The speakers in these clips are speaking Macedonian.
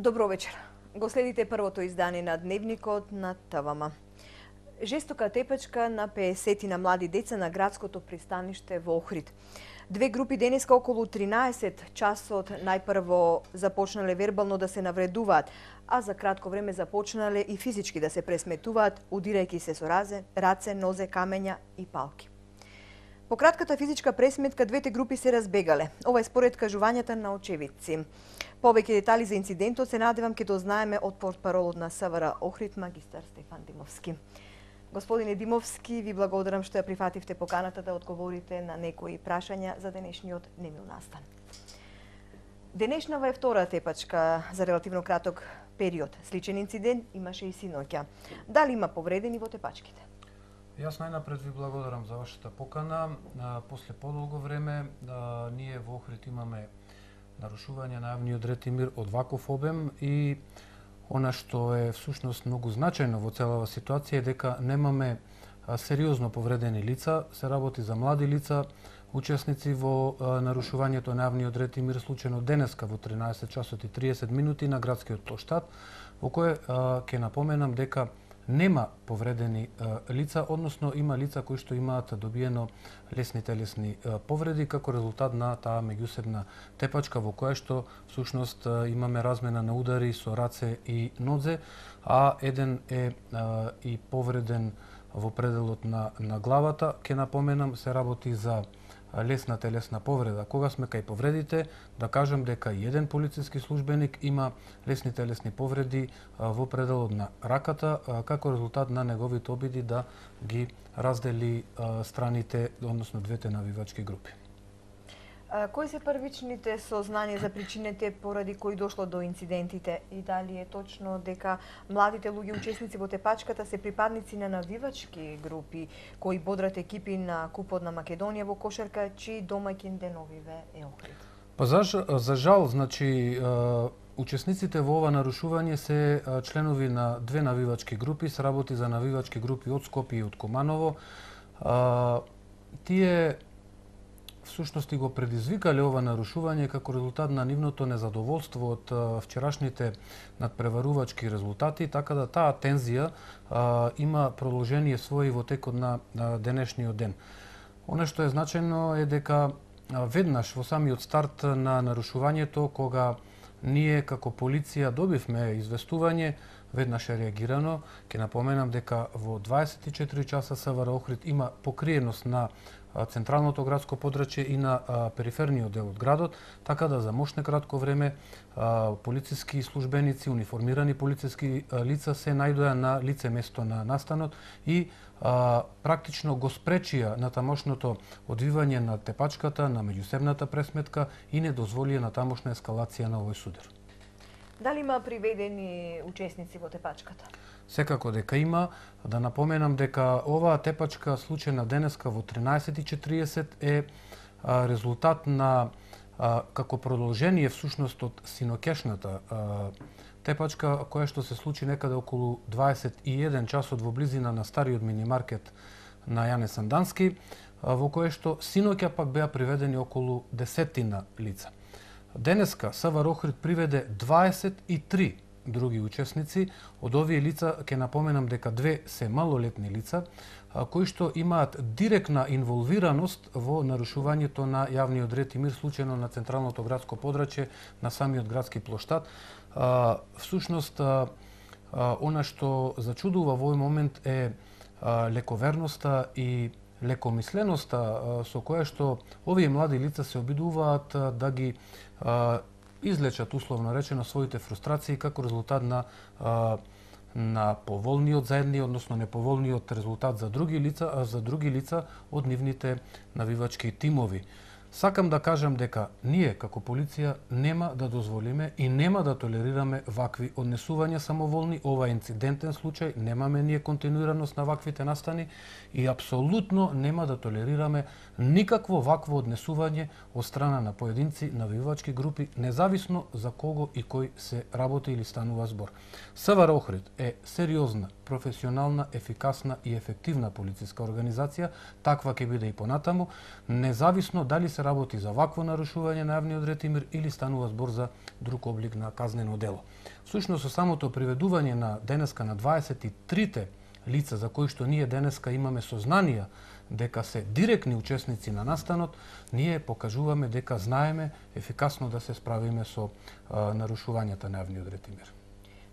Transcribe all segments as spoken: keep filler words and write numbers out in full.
Добро вечер. Го следите првото издание на Дневникот на ТВМ. Жестока тепачка на песет на млади деца на градското пристаниште во Охрид. Две групи денеска околу тринаесет часот најпрво започнале вербално да се навредуваат, а за кратко време започнале и физички да се пресметуваат, удирајќи се со разе, раце, нозе, камења и палки. По кратката физичка пресметка двете групи се разбегале. Ова е според кажувањата на очевидци. Повеќе детали за инцидентот се надевам ќе дознаеме од портпаролот на СВР Охрид магистар Стефан Димовски. Господине Димовски, ви благодарам што ја прифативте поканата да одговорите на некои прашања за денешниот немил настан. Денешнава е втора тепачка за релативно краток период. Сличен инцидент имаше и синоќа. Дали има повредени во тепачките? Јас најнапред ви благодарам за вашата покана. После подолго време ние во Охрид имаме нарушување на јавниот ред и мир од ваков обем и она што е всушност многу значајно во целава ситуација е дека немаме сериозно повредени лица, се работи за млади лица, учесници во нарушувањето на јавниот ред и мир случено денеска во тринаесет часот и триесет минути на градскиот плоштад, во кој ќе напоменам дека нема повредени лица, односно има лица кои што имаат добиено лесни телесни повреди како резултат на таа меѓусебна тепачка во која што всушност имаме размена на удари со раце и нозе, а еден е и повреден во пределот на, на главата. Ке напоменам, се работи за лесна телесна повреда. Кога сме кај повредите, да кажем дека и еден полициски службеник има лесни телесни повреди во пределот на раката, како резултат на неговите обиди да ги раздели страните, односно двете навивачки групи. Кои се првичните сознанија за причините поради кои дошло до инцидентите и дали е точно дека младите луѓе учесници во тепачката се припадници на навивачки групи кои бодрат екипи на Купот на Македонија во кошарка, чии домаќин деновиве е Охрид? Па за, за жал, значи учесниците во ова нарушување се членови на две навивачки групи, се работи за навивачки групи од Скопје и од Куманово. Тие всушност и го предизвикале ова нарушување како резултат на нивното незадоволство од вчерашните надпреварувачки резултати, така да таа тензија а, има продолжение своји во текот на, на денешниот ден. Оно што е значајно е дека веднаш во самиот старт на нарушувањето, кога ние како полиција добивме известување, веднаш е реагирано. Ке напоменам дека во дваесет и четири часа СВР Охрид има покриеност на централното градско подрачје и на а, периферниот дел од градот, така да за мошне кратко време а, полициски службеници, униформирани полициски а, лица се најдоа на лице место на настанот и а, практично го спречија на тамошното одвивање на тепачката, на меѓусебната пресметка и не дозволија на тамошна ескалација на овој судир. Дали има приведени учесници во тепачката? Секако дека има. Да напоменам дека оваа тепачка случена денеска во тринаесет и четириесет е а, резултат на а, како продолжение всушност од синоќешната а, тепачка која што се случи некаде околу дваесет и еден часот во близина на стариот минимаркет на Јане Сандански, а, во кој што синоќа пак беа приведени околу десетина лица. Денеска СВР Охрид приведе дваесет и три други учесници. Од овие лица ќе напоменам дека две се малолетни лица кои што имаат директна инволвираност во нарушувањето на јавниот ред и мир случено на централното градско подрачје на самиот градски плоштад. Всушност, она што зачудува во овој момент е лековерноста и лекомисленоста со која што овие млади лица се обидуваат да ги излечат, условно речено, своите фрустрации како резултат на а, на поволниот за едни, односно неповолниот резултат за други лица, а за други лица од нивните навивачки тимови. Сакам да кажам дека ние како полиција нема да дозволиме и нема да толерираме вакви однесувања самоволни. Ова е инцидентен случај, немаме ние континуираност на ваквите настани и апсолутно нема да толерираме никакво вакво однесување од страна на поединци, навивачки групи, независно за кого и кој се работи или станува збор. СВР Охрид е сериозна професионална, ефикасна и ефективна полициска организација, таква ќе биде и понатаму, независно дали се работи за вакво нарушување на јавниот ред и мир или станува збор за друг облик на казнено дело. Всушност, со самото приведување на денеска на дваесет и трите лица за кои што ние денеска имаме сознанија дека се директни учесници на настанот, ние покажуваме дека знаеме ефикасно да се справиме со а, нарушувањата на јавниот ред и мир.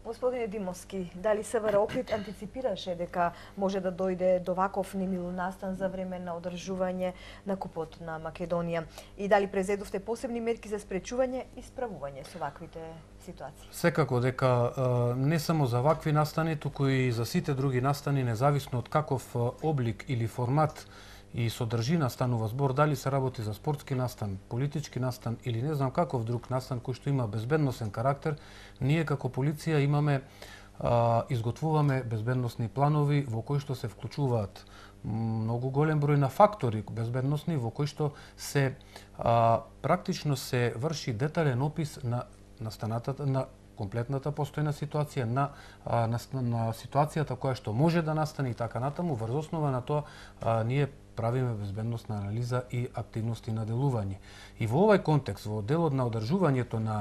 Господине Димовски, дали СВР Охрид антиципираше дека може да дојде до ваков немил настан за време на одржување на купот на Македонија? И дали презедовте посебни мерки за спречување и справување со ваквите ситуации? Секако дека а, не само за вакви настани, туку и за сите други настани, независно од каков облик или формат и содржина станува збор, дали се работи за спортски настан, политички настан или не знам каков друг настан кој што има безбедносен карактер, ние како полиција имаме а, изготвуваме безбедносни планови во кои што се вклучуваат многу голем број на фактори безбедносни, во кои што се а, практично се врши детален опис на настанатата на комплетната постојна ситуација, на, а, на, на ситуацијата која што може да настане и така натаму. Врз основа на тоа а, ние правиме безбедносна анализа и активности на делување. И во овој контекст, во делот на одржувањето на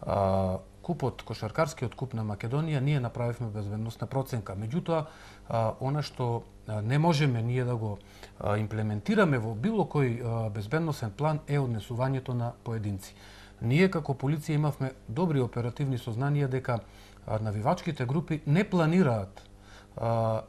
а, купот, кошаркарскиот куп на Македонија, ние направивме безбедносна проценка. Меѓутоа, а, она што а, не можеме ние да го а, имплементираме во било кој а, безбедносен план е однесувањето на поединци. Ние како полиција имавме добри оперативни сознанија дека а, навивачките групи не планираат а,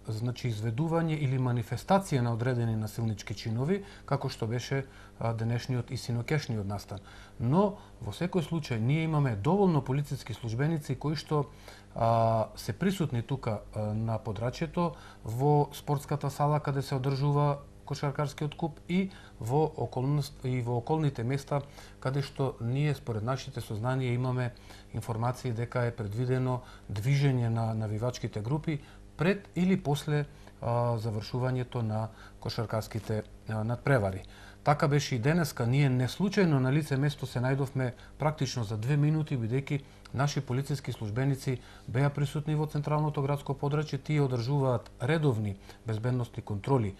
значи изведување или манифестација на одредени насилнички чинови, како што беше а, денешниот и синокешниот настан. Но во секој случај ние имаме доволно полициски службеници кои што а, се присутни тука а, на подрачјето во спортската сала каде се одржува кошаркарскиот куп и во околност и во околните места каде што ние според нашите сознанија имаме информации дека е предвидено движење на навивачките групи пред или после а, завршувањето на кошаркарските а, надпревари. Така беше и денеска. Ние не случајно на лице место се најдовме практично за две минути, бидејќи наши полициски службеници беа присутни во централното градско подрачје, тие одржуваат редовни безбедносни контроли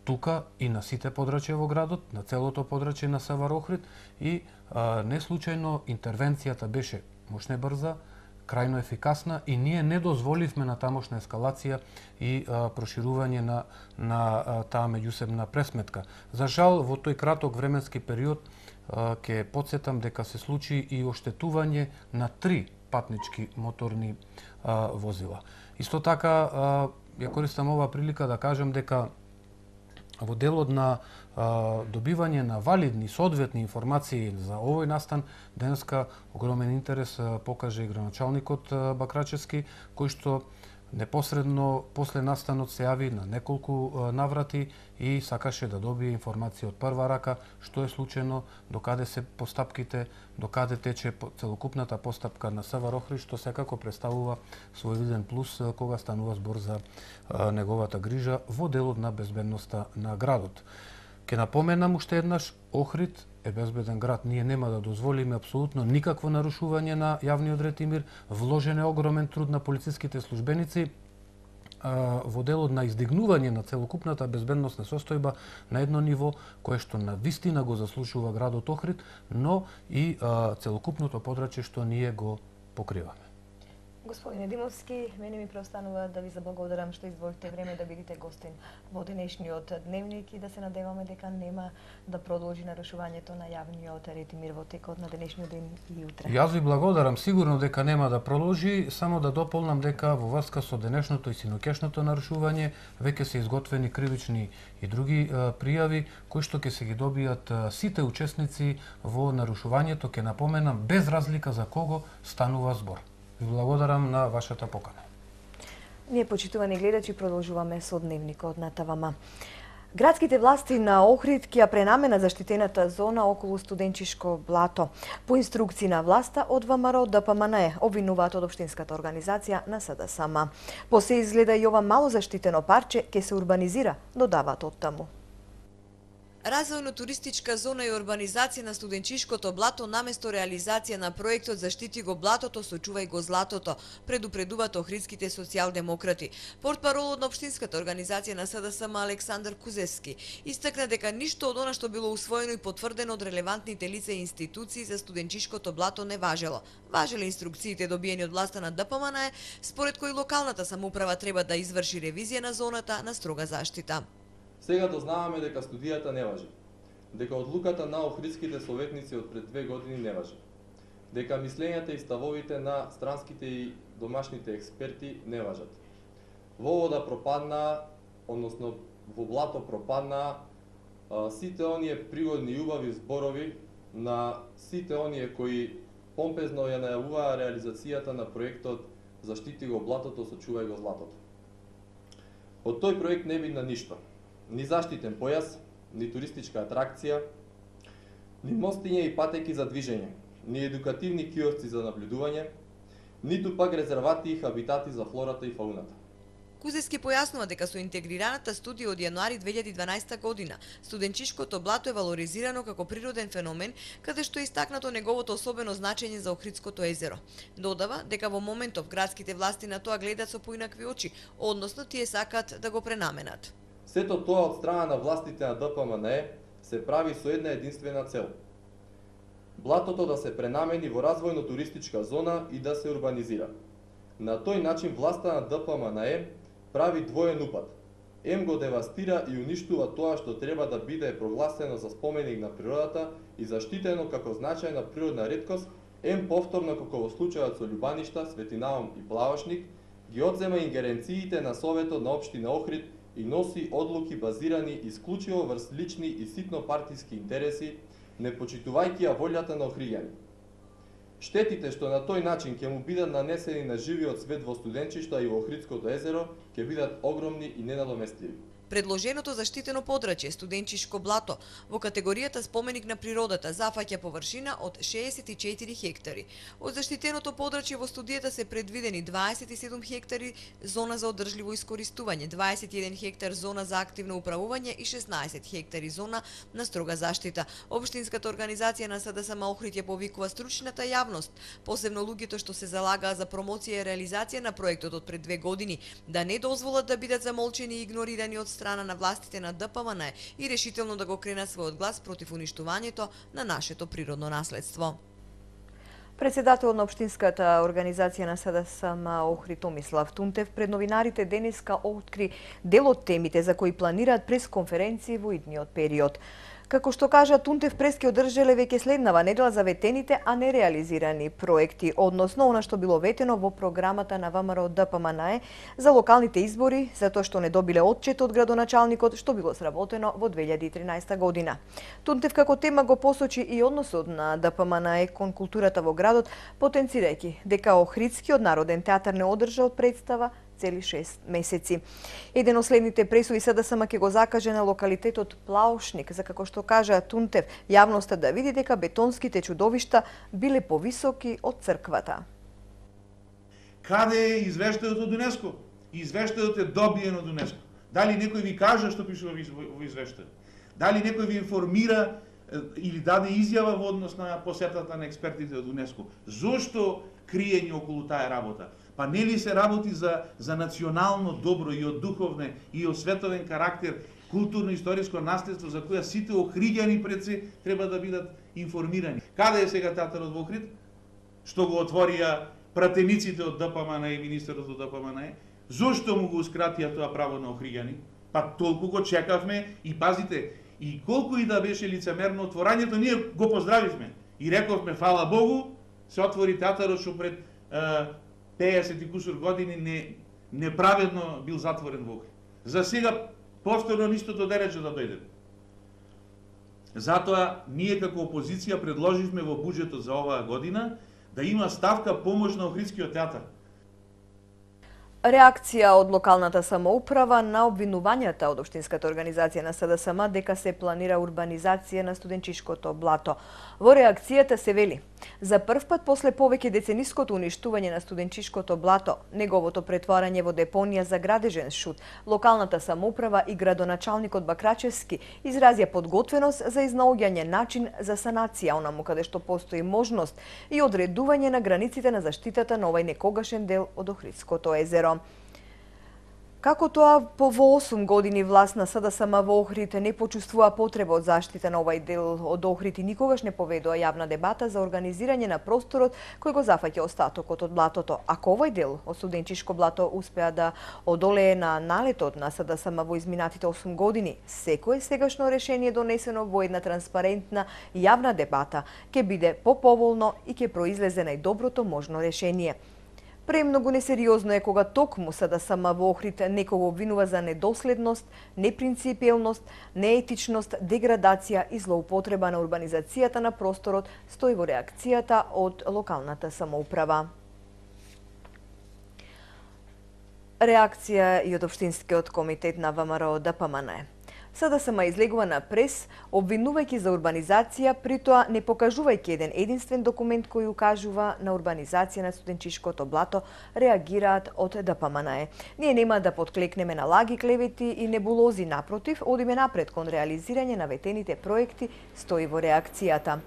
тука и на сите подрачја во градот, на целото подрачје на СВР Охрид и а, не случајно интервенцијата беше мощна и брза, крајно ефикасна и ние не дозволивме на тамошна ескалација и а, проширување на, на а, таа меѓусебна пресметка. За жал, во тој краток временски период а, ќе потсетам дека се случи и оштетување на три патнички моторни а, возила. Исто така, а, ја користам оваа прилика да кажам дека во делот на а, добивање на валидни, соодветни информации за овој настан, денеска огромен интерес а, покаже и граначалникот а, Бакрачевски, кој што непосредно после настанот се јави на неколку а, наврати и сакаше да добие информација од прва рака што е случено, докаде се постапките, докаде тече целокупната постапка на СВР Охрид, што секако представува свој виден плюс а, кога станува збор за а, неговата грижа во делот на безбедноста на градот. Ке напоменам уште еднаш, Охрид е безбеден град. Ние нема да дозволиме апсолутно никакво нарушување на јавниот ред и мир. Вложен е огромен труд на полициските службеници а, во делот на издигнување на целокупната безбедносна состојба на едно ниво кое што на вистина го заслужува градот Охрид, но и а, целокупното подрачје што ние го покриваме. Господине Димовски, мене ми преостанува да ви заблагодарам што издвоите време да бидете гостин во денешниот дневник и да се надеваме дека нема да продолжи нарушувањето на јавниот ред и мир во текот на денешниот ден и утре. Јас ви благодарам, сигурно дека нема да продолжи, само да дополнам дека во врска со денешното и синокешното нарушување веќе се изготвени кривични и други а, пријави кои што ќе се ги добијат а, сите учесници во нарушувањето, ќе напоменам без разлика за кого станува збор. Ви благодарам на вашата покана. Ние, почитувани гледачи, продолжуваме со дневникот на ТВМ. Градските власти на Охрид ќе ја пренамена заштитената зона околу Студенчишко блато. По инструкции на власта од ВМРО ДПМНЕ обвинуваат од општинската организација на СДСМ. По се изгледа и ова мало заштитено парче ќе се урбанизира, додаваат од таму. Развојно-туристичка зона и урбанизација на студенчишкото блато наместо реализација на проектот Заштити го блатото, сочувај го златото, предупредуваат охридските социјалдемократи. Портпаролот на општинската организација на СДСМ Александар Кузевски истакна дека ништо од она што било усвоено и потврдено од релевантните лица и институции за студенчишкото блато не важело. Важеле инструкциите добиени од власта на ДПМН, според кои локалната самоуправа треба да изврши ревизија на зоната на строга заштита. Сега дознаваме дека студијата не важи, дека одлуката на охридските советници од пред две години не важи, дека мислењата и ставовите на странските и домашните експерти не важат. Во вода пропадна, односно во блато пропадна сите оние пригодни и убави зборови на сите оние кои помпезно ја најавуваа реализацијата на проектот Заштити го блатото, сочувај го златото. Од тој проект не видна ништо. Ни заштитен појас, ни туристичка атракција, ни мостиња и патеки за движење, ни едукативни киосци за наблюдување, ниту пак резервати и хабитати за флората и фауната. Кузевски појаснува дека со интегрираната студија од јануари две илјади и дванаесета година студенчишкото блато е валоризирано како природен феномен, каде што е истакнато неговото особено значење за Охридското езеро. Додава дека во моментов градските власти на тоа гледат со поинакви очи, односно тие сакаат да го пренаменат. Сето тоа од страна на властите на ДПМН се прави со една единствена цел. Блатото да се пренамени во развојно-туристичка зона и да се урбанизира. На тој начин власта на ДПМН прави двоен упад. Ем го девастира и уништува тоа што треба да биде прогласено за споменик на природата и заштитено како значајна природна реткост, ем повторно како во случајот со Љубаништа, Светинаум и Плавашник, ги одзема ингеренциите на Советот на општина Охрид и носи одлуки базирани исклучиво врз лични и ситно партиски интереси, не почитувајќи ја волјата на охриѓани. Штетите што на тој начин ќе му бидат нанесени на живиот свет во студенчишта и во Охридското езеро ќе бидат огромни и ненадоместливи. Предложеното заштитено подрачје студенчишко блато во категоријата споменик на природата зафаќа површина од шеесет и четири хектари. Од заштитеното подрачје во студијата се предвидени дваесет и седум хектари зона за одржливо искористување, дваесет и еден хектар зона за активно управување и шеснаесет хектари зона на строга заштита. Општинската организација на СДСМ Охрид ја повикува стручната јавност, посебно луѓето што се залагаа за промоција и реализација на проектот од пред две години, да не дозволат да бидат замолчени и игнорирани од страна на властите на ДПМН и решително да го кренат својот глас против уништувањето на нашето природно наследство. Председателот на општинската организација на СДСМ Охрид Томислав Тунтев пред новинарите денеска откри дел од темите за кои планираат пресконференции во идниот период. Како што кажа Тунтев, прес ќе одржале веќе следнава недела за ветените, а не реализирани проекти, односно она што било ветено во програмата на ВМРО ДПМН за локалните избори, затоа што не добиле отчет од градоначалникот што било сработено во две илјади и тринаесета година. Тунтев како тема го посочи и односот на ДПМН кон културата во градот, потенцирајќи дека Охридскиот народен театар не одржа од представа цели шест месеци. Еден од следните пресуди СДСМ ќе го закаже на локалитетот Плавашник, за како што кажа Тунтев, јавноста да види дека бетонските чудовишта биле повисоки од црквата. Каде е извештајот од ЮНЕСКО? Извештајот е добиен од ЮНЕСКО. Дали некој ви кажа што пише во извештајот? Дали некој ви информира или даде изјава во однос на посетата на експертите од ЮНЕСКО? Зошто криење околу таа работа? Па нели се работи за, за национално добро и од духовне и од световен карактер, културно-историско наследство за која сите охриѓани пред се треба да бидат информирани. Каде е сега театарот во Охрид? Што го отворија пратениците од ДПМН и министерот од ДПМН? Зошто му гоускратија тоа право на охриѓани? Па толку го чекавме и пазите, и колку и да беше лицемерно отворањето, ние го поздравивме и рековме фала Богу, се отвори театарот што пред пеесет и кусур години не, неправедно бил затворен во Охрид. За сега повторно нистото дерече да дојде. Затоа ние како опозиција предложивме во буџетот за оваа година да има ставка помош на Охридскиот театар. Реакција од локалната самоуправа на обвинувањата од Општинската организација на СДСМ дека се планира урбанизација на студенчишкото блато. Во реакцијата се вели: за прв пат после повеќе децениското уништување на студенчишкото блато, неговото претварање во депонија за градежен шут, локалната самоуправа и градоначалникот Бакрачевски изразија подготвеност за изнаоѓање начин за санација онаму каде што постои можност и одредување на границите на заштитата на овај некогашен дел од Охридското езеро. Како тоа по во осум години власт на СДСМ во Охрид не почувствува потреба од заштита на овај дел од Охрид и никогаш не поведува јавна дебата за организирање на просторот кој го зафаќа остатокот од блатото. Ако овај дел од студенчишко блато успеа да одолее на налетот на СДСМ во изминатите осум години, секое сегашно решение донесено во една транспарентна јавна дебата ќе биде поповолно и ќе произлезе најдоброто можно решение. Премногу несериозно е кога токму СДСМ во Охрид некого обвинува за недоследност, непринципиелност, неетичност, деградација и злоупотреба на урбанизацијата на просторот, стои во реакцијата од локалната самоуправа. Реакција и од Општинскиот комитет на ВМРО ДПМН. СДСМ излегува на прес, обвинувајќи за урбанизација, при тоа не покажувајќи еден единствен документ кој укажува на урбанизација на студенчишкото блато, реагираат од ДПМН. Ние нема да подклекнеме на лаги, клевети и небулози, напротив, одиме напред кон реализирање на ветените проекти, стои во реакцијата.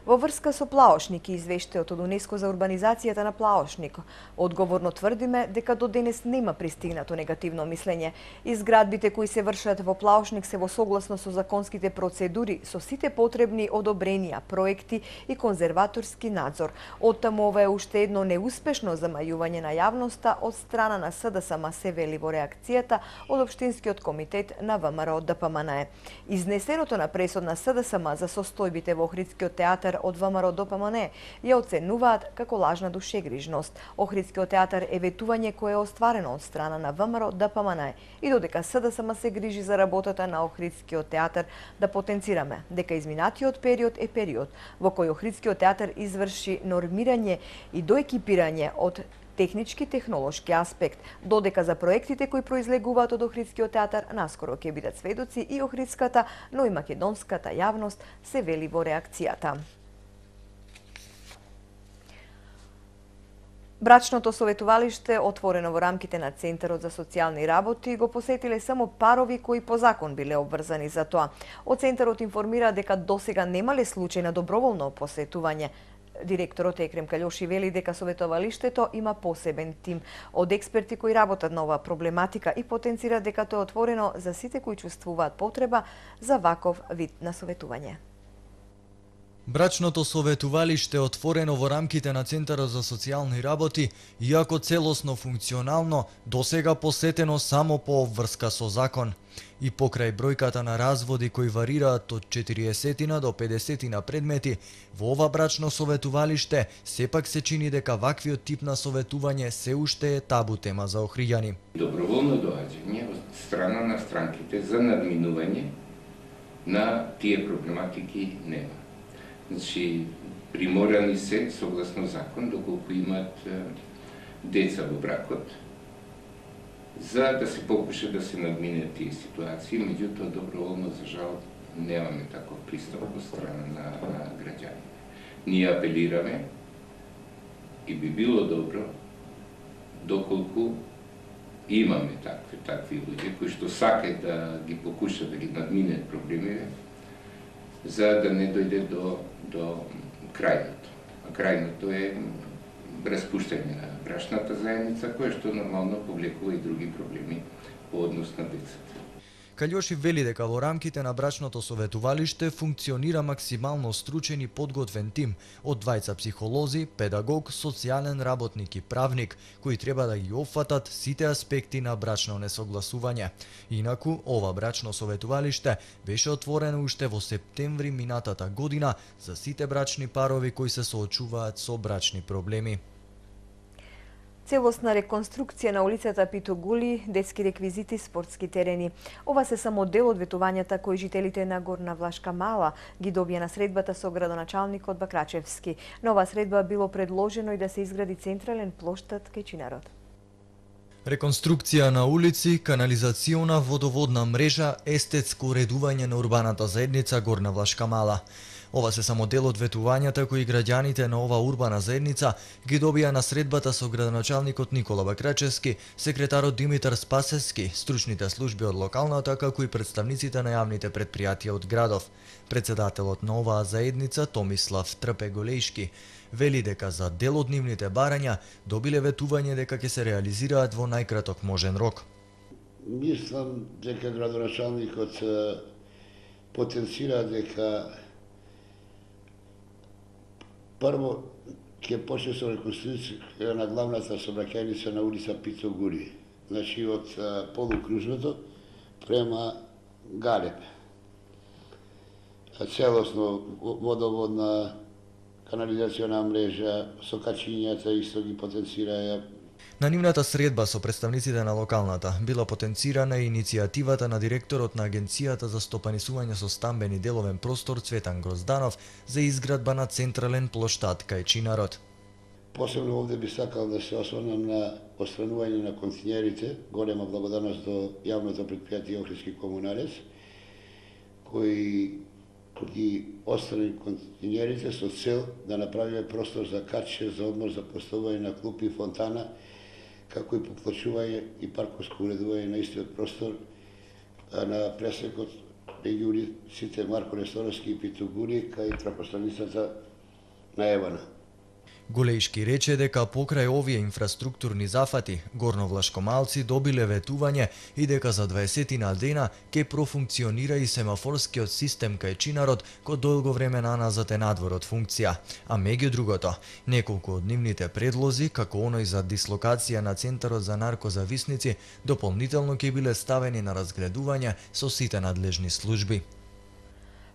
Во врска со Плаошник и извештајот од УНЕСКО за урбанизацијата на Плаошник, одговорно тврдиме дека до денес нема пристигнато негативно мислење. Изградбите кои се вршат во Плаошник се во согласно со законските процедури, со сите потребни одобренија, проекти и конзерваторски надзор. Оттаму ова е уште едно неуспешно замајување на јавноста од страна на СДСМ, се вели во реакцијата од Општинскиот комитет на ВМРО ДПМН. Изнесеното на пресод на СДСМ за состојбите во Охридскиот театар од ВМРО ДПМН ја оценуваат како лажна душегрижност. Охридскиот театар е ветување кое е остварено од страна на ВМРО ДПМН и додека СДСМ се грижи за работата на Охридскиот театар, да потенцираме дека изминатиот период е период во кој Охридскиот театар изврши нормирање и доекипирање од технички технолошки аспект, додека за проектите кои произлегуваат од Охридскиот театар наскоро ќе бидат сведоци и охридската, но и македонската јавност, се вели во реакцијата. Брачното советувалиште, отворено во рамките на Центарот за социјални работи, го посетиле само парови кои по закон биле обврзани за тоа. Од Центарот информира дека досега немале случаи на доброволно посетување. Директорот Екрем Калјоши вели дека советувалиштето има посебен тим од експерти кои работат на оваа проблематика и потенцира дека тоа е отворено за сите кои чувствуваат потреба за ваков вид на советување. Брачното советувалиште е отворено во рамките на Центарот за социјални работи, иако целосно функционално, досега посетено само по обврска со закон. И покрај бројката на разводи кои варираат од четириесет до педесет предмети, во ова брачно советувалиште сепак се чини дека ваквиот тип на советување се уште е табу тема за охриѓани. Доброволно доаѓање од страна на странките за надминување на тие проблематики нема. Значи, приморани се, согласно закон, доколку имат деца во бракот, за да се покуша да се надминат тие ситуации, меѓутоа доброволно, за жал, немаме таков пристап од страна на, на граѓаните. Ние апелираме и би било добро, доколку имаме такви, такви луѓе, кои што сакаат да ги покушат да ги надминат проблемите, за да не дојде до, до крајното. А крајното е распуштање на брачната заедница, кое што нормално повлекува и други проблеми по однос на децата. Калјоши вели дека во рамките на брачното советувалиште функционира максимално стручен и подготвен тим од двајца психолози, педагог, социјален работник и правник, кои треба да ги опфатат сите аспекти на брачно несогласување. Инаку, ова брачно советувалиште беше отворено уште во септември минатата година за сите брачни парови кои се соочуваат со брачни проблеми. Целосна реконструкција на улицата Питогули, детски реквизити, спортски терени. Ова се само дел од ветувањата кои жителите на Горна Влашка Мала ги добија на средбата со градоначалникот Бакрачевски. На оваа средба било предложено и да се изгради централен плоштад кај Чинарот. Реконструкција на улици, канализациона водоводна мрежа, естетско уредување на урбаната заедница Горна Влашка Мала. Ова се само дел од ветувањата кои граѓаните на ова урбана заедница ги добија на средбата со градоначалникот Никола Бакрачевски, секретарот Димитар Спасевски, стручните служби од локалната, како и представниците на јавните претпријатија од градов. Председателот на оваа заедница Томислав Трпе Голејшки вели дека за дел од нивните барања добиле ветување дека ќе се реализираат во најкраток можен рок. Мислам дека градоначалникот потенцира дека прво ќе почне со реконструкција на главната сообраќајница на улица Пито Гури, значи од полукружното према Галеб. Целосно водоводна канализациона мрежа со качињата исто ги потенцираја. На нивната средба со представниците на локалната била потенцирана и иницијативата на директорот на Агенцијата за стопанисување со стамбени деловен простор Цветан Грозданов за изградба на централен плоштад кај Чинарот. Посебно овде би сакал да се осврнам на отстранување на континерите, голема благодарност до јавното претпријатие Охридски комуналец, кои ги отстрани континерите со цел да направиме простор за каче, за одмор, за поставување на клупи, фонтана, како и поплачување и парковско уредување на истиот простор на пресекот меѓу улиците Марко Несторовски и Пито Гури кај трафостаницата на Евана. Голејшки рече дека покрај овие инфраструктурни зафати, горновлашкомалци добиле ветување и дека за дваесетина дена ќе профункционира и семафорскиот систем кај Чинарот, кој долго време наназад е надвор од функција. А меѓу другото, неколку од нивните предлози, како оној за дислокација на Центарот за наркозависници, дополнително ќе биле ставени на разгледување со сите надлежни служби.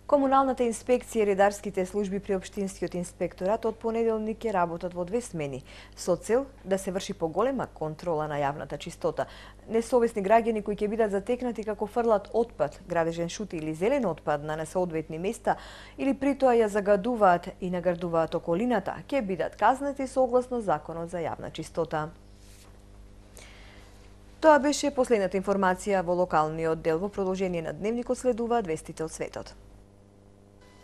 Комуналната инспекција и редарските служби при Општинскиот инспекторат од понеделник ќе работат во две смени, со цел да се врши поголема контрола на јавната чистота. Несовесни граѓани кои ќе бидат затекнати како фрлат отпад, градежен шут или зелен отпад на несоодветни места или при тоа ја загадуваат и наградуваат околината, ќе бидат казнати согласно Законот за јавна чистота. Тоа беше последната информација во локалниот дел. Во продолжение на дневникот следуваат вестите од светот.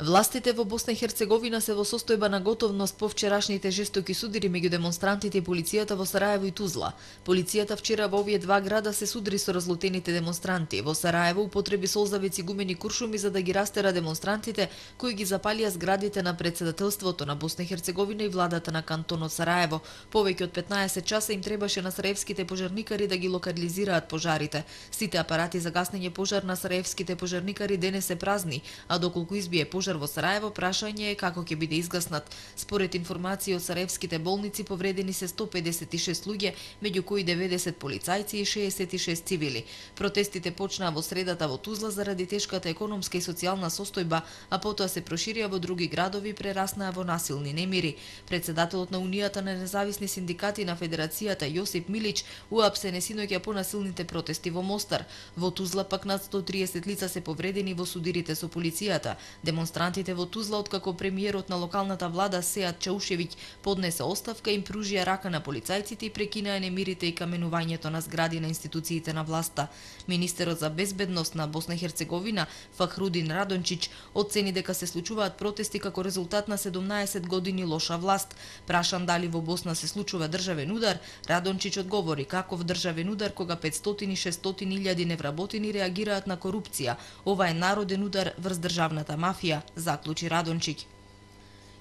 Властите во Босна и Херцеговина се во состојба на готовност по вчерашните жестоки судири меѓу демонстрантите и полицијата во Сараево и Тузла. Полицијата вчера во овие два града се судри со разлутените демонстранти. Во Сараево употреби солзавици, гумени куршуми за да ги растера демонстрантите кои ги запалија зградите на председателството на Босна и Херцеговина и владата на кантонот Сараево. Повеќе од петнаесет часа им требаше на сараевските пожарникари да ги локализираат пожарите. Сите апарати за гаснење пожар на сараевските пожарникари денес се празни, а доколку избие пожар во Сараево, прашање е како ќе биде изгаснат. Според информации од сараевските болници, повредени се сто педесет и шест луѓе, меѓу кои деветдесет полицајци и шеесет и шест цивили. Протестите почнаа во средата во Тузла заради тешката економска и социјална состојба, а потоа се проширија во други градови и прераснаа во насилни немири. Председателот на Унијата на независни синдикати на Федерацијата Јосип Милич уапсене синоќа по насилните протести во Мостар. Во Тузла пак над сто триесет лица се повредени во судирите со полицијата. Демонстрантите во Тузла, откако премиерот на локалната влада Сеат Чаушевиќ поднесе оставка, им пружија рака на полицајците и прекинаа немирите и каменувањето на згради на институциите на власта. Министерот за безбедност на Босна и Херцеговина Фахрудин Радончич оцени дека се случуваат протести како резултат на седумнаесет години лоша власт. Прашан дали во Босна се случува државен удар, Радончич одговори каков државен удар кога петстотини и шестстотини илјади невработени реагираат на корупција. Ова е народен удар врз државната мафија, заклучи Радончич.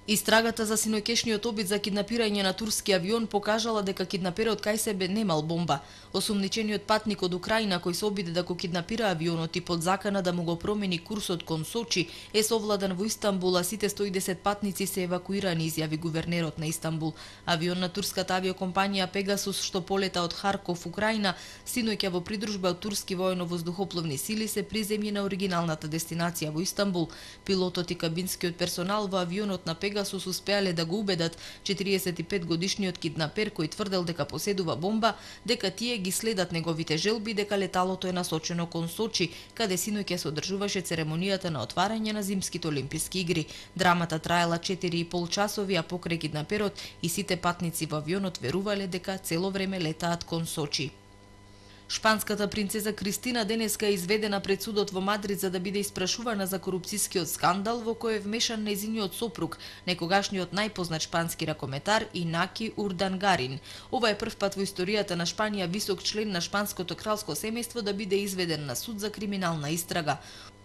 Истрагата за синоќешниот обид за киднапирање на турски авион покажала дека киднаперот кај себе немал бомба. Осумничениот патник од Украина кој се обиде да го киднапира авионот и под закана да му го промени курсот кон Сочи е совладан во Истанбул, а сите сто и десет патници се евакуирани, изјави гувернерот на Истанбул. Авион на турската авиокомпанија Пегасус што полета од Харков, Украина, синоќа во придружба од турски воено-воздухопловни сили се приземји на оригиналната дестинација во Истанбул. Пилотот и кабинскиот персонал во авионот на Пегасус успеале да го убедат четириесет и пет годишниот киднапер кој тврдел дека поседува бомба, дека тие ги следат неговите желби, дека леталото е насочено кон Сочи, каде синоќа се одржуваше церемонијата на отварање на зимските олимписки игри. Драмата траела четири и пол часови, а покрај киднаперот и сите патници во авионот верувале дека цело време летаат кон Сочи. Шпанската принцеза Кристина денеска е изведена пред судот во Мадрид за да биде испрашувана за корупцискиот скандал во кој е вмешан нејзиниот сопруг, некогашниот најпознат шпански ракометар Инаки Урдангарин. Ова е прв пат во историјата на Шпанија висок член на шпанското кралско семејство да биде изведен на суд за криминална истрага.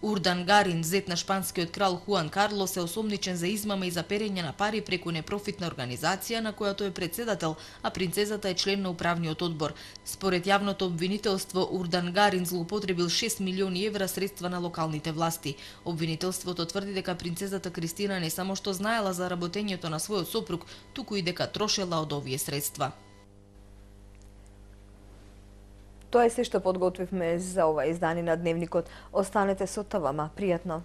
Урдангарин, зет на шпанскиот крал Хуан Карлос, е осомничен за измама и за перење на пари преку непрофитна организација на која тој е председател, а принцезата е член на управниот одбор. Според јавното обвинителство, Урдангарин злоупотребил шест милиони евра средства на локалните власти. Обвинителството тврди дека принцезата Кристина не само што знаела за работењето на својот сопруг, туку и дека трошела од овие средства. Тоа е се што подготвивме за ова издание на Дневникот. Останете со ТВМа. Пријатно!